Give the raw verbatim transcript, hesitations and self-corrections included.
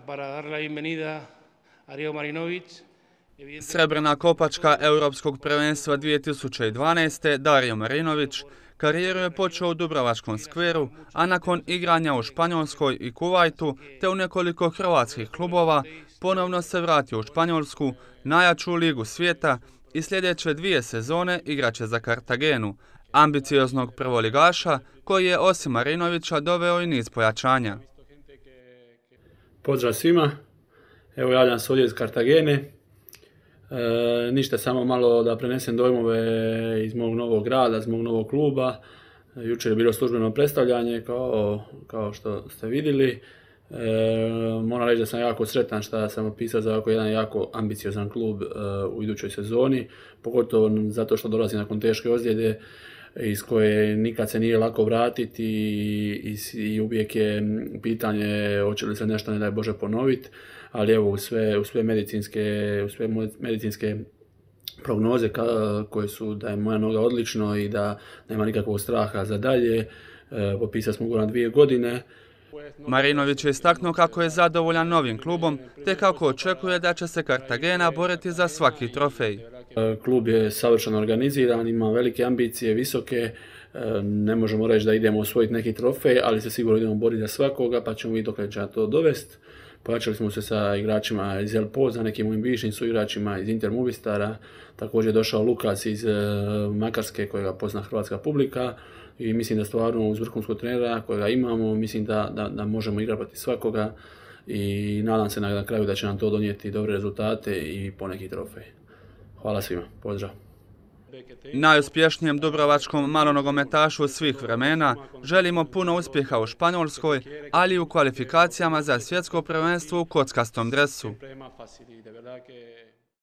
para darle la bienvenida a Rio Marinović. Srebrna kopačka Europskog prvenstva dvije tisuće dvanaeste. Dario Marinović karijeru je počeo u Dubrovačkom skveru, a nakon igranja u Španjolskoj i Kuvajtu te u nekoliko hrvatskih klubova ponovno se vratio u Španjolsku, najjaču ligu svijeta, i sljedeće dvije sezone igraće za Kartagenu, ambicioznog prvoligaša koji je osim Marinovića doveo i niz pojačanja. Pozdrav svima, evo javljam se ovdje iz Kartagene. E, ništa, samo malo da prenesem dojmove iz mog novog grada, iz mog novog kluba. E, jučer je bilo službeno predstavljanje, kao, kao što ste vidjeli. E, moram reći da sam jako sretan što sam opisao za ovako jedan jako ambiciozan klub e, u idućoj sezoni, pogotovo zato što dolazi nakon teške ozljede iz koje nikad se nije lako vratiti i, i, i uvijek je pitanje hoće li se nešto, ne daj Bože, ponoviti, ali evo u sve, u sve medicinske, u sve medicinske prognoze ka, koje su da je moja noga odlično i da nema nikakvog straha za dalje, e, popisali smo ugovor na dvije godine. Marinović je istaknuo kako je zadovoljan novim klubom, te kako očekuje da će se Kartagena boriti za svaki trofej. Klub je savršeno organiziran, ima velike ambicije, visoke, ne možemo reći da idemo osvojiti neki trofej, ali se sigurno idemo boriti za svakoga, pa ćemo vidjeti dok će to dovesti. Pojačali smo se sa igračima iz El Poza, nekim mojim bivšim suigračima iz Inter Movistara, također je došao Lukas iz Makarske kojega pozna hrvatska publika i mislim da stvarno uz vrhunskog trenera kojega imamo, mislim da, da, da možemo igrati protiv svakoga i nadam se na kraju da će nam to donijeti dobre rezultate i poneki trofej. Hvala svima, pozdrav. Najuspješnijem dubrovačkom malonogometašu svih vremena želimo puno uspjeha u Španjolskoj, ali i u kvalifikacijama za svjetsko prvenstvo u kockastom dresu.